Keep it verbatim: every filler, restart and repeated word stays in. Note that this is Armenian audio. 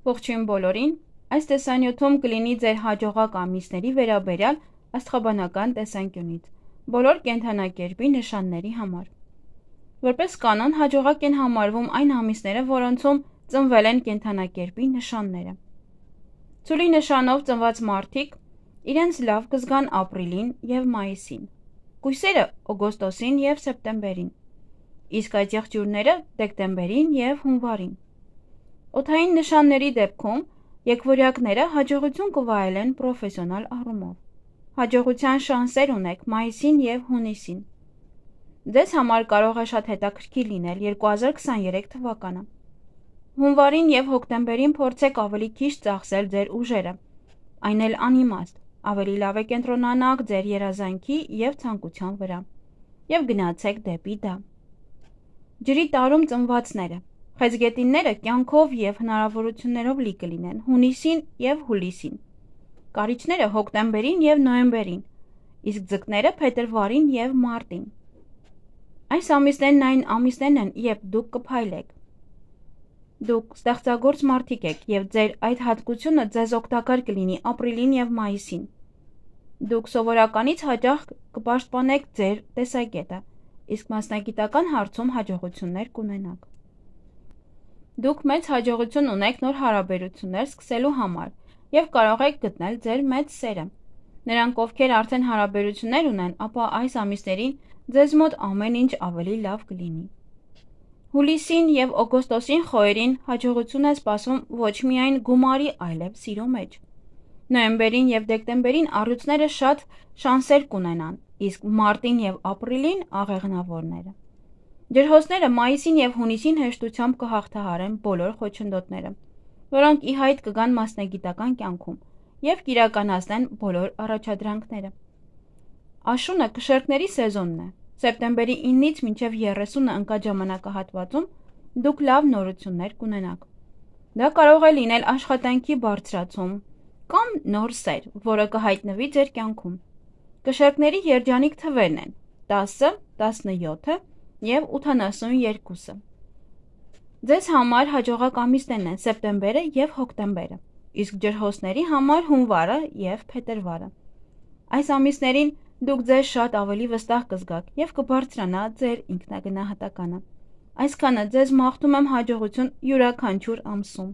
Ողջույն բոլորին, այս տեսանյութում կլինի ձեր հաջողակ ամիսների վերաբերյալ աստղաբանական տեսանկյունից, բոլոր կենդանակերպի նշանների համար։ Որպես կանոն, հաջողակ են համարվում այն ամիսները, որոնցում ծնվել են կենդանակերպի նշանները։ Ցուլի նշանով ծնված մարդիկ իրենց լավ կզգան ապրիլին և մայիսին, կույսերը օգոստոսին և սեպտեմբերին, իսկ այդ եղջյուրները դեկտեմբերին և հունվարին։ Օդային նշանների դեպքում եկվորյակները հաջողություն կվայելեն պրոֆեսիոնալ առումով։ Հաջողության շանսեր ունեք մայիսին և հունիսին։ Ձեզ համար կարող է շատ հետաքրքիր լինել երկու հազար քսաներեք թվականը։ Հունվարին և հոկտեմբերին փորձեք ավելի քիչ ծախսել ձեր ուժերը, այն էլ անիմաստ, ավելի լավ է կենտրոնանաք ձեր երազանքի և ցանկության վրա և գնացեք դեպի դա։ Ջրի տարում ծնվածները խեցգետինները կյանքով և հնարավորություններով լի կլինեն հունիսին և հուլիսին, կարիճները հոկտեմբերին և նոյեմբերին, իսկ ձկները փետրվարին և մարտին։ Այս ամիսներն այն ամիսներն են, երբ դուք կփայլեք։ Դուք ստեղծագործ մարդիկ եք և ձեր այդ հատկությունը ձեզ օգտակար կլինի ապրիլին և մայիսին։ Դուք սովորականից հաճախ կպաշտպանեք ձեր տեսակետը, իսկ մասնագիտական հարցում հաջողություններ կունենաք։ Դուք մեծ հաջողություն ունեք նոր հարաբերություններ սկսելու համար և կարող եք գտնել ձեր մեծ սերը։ Նրանք, ովքեր արդեն հարաբերություններ ունեն, ապա այս ամիսներին ձեզ մոտ ամեն ինչ ավելի լավ կլինի։ Հուլիսին և օգոստոսին խոյերին հաջողություն է սպասվում ոչ միայն գումարի, այլև սիրո մեջ։ Նոյեմբերին և դեկտեմբերին առյուծները շատ շանսեր կունենան, իսկ մարտին և ապրիլին աղեղնավորները։ Ջրհոսները մայիսին և հունիսին հեշտությամբ կհաղթահարեն բոլոր խոչընդոտները, որոնք ի հայտ կգան մասնագիտական կյանքում և կիրականացնեն բոլոր առաջադրանքները։ Աշունը կշեռքների սեզոնն է։ Սեպտեմբերի իննից մինչև երեսունը ընկած ժամանակահատվածում դուք լավ նորություններ կունենաք։ Դա կարող է լինել աշխատանքի բարձրացում կամ նոր սեր, որը կհայտնվի ձեր կյանքում։ Կշեռքների երջանիկ թվերն են տասը, տասնյոթը և ութանասունյոթը։ Ձեզ համար հաջողակ ամիսներն են սեպտեմբերը և հոկտեմբերը, իսկ ջրհոսների համար հունվարը և փետրվարը։ Այս ամիսներին դուք ձեզ շատ ավելի վստահ կզգաք և կբարձրանա ձեր ինքնագնահատականը։ Այսքանը ձեզ մաղթում եմ հաջողություն յուրաքանչյուր ամսում։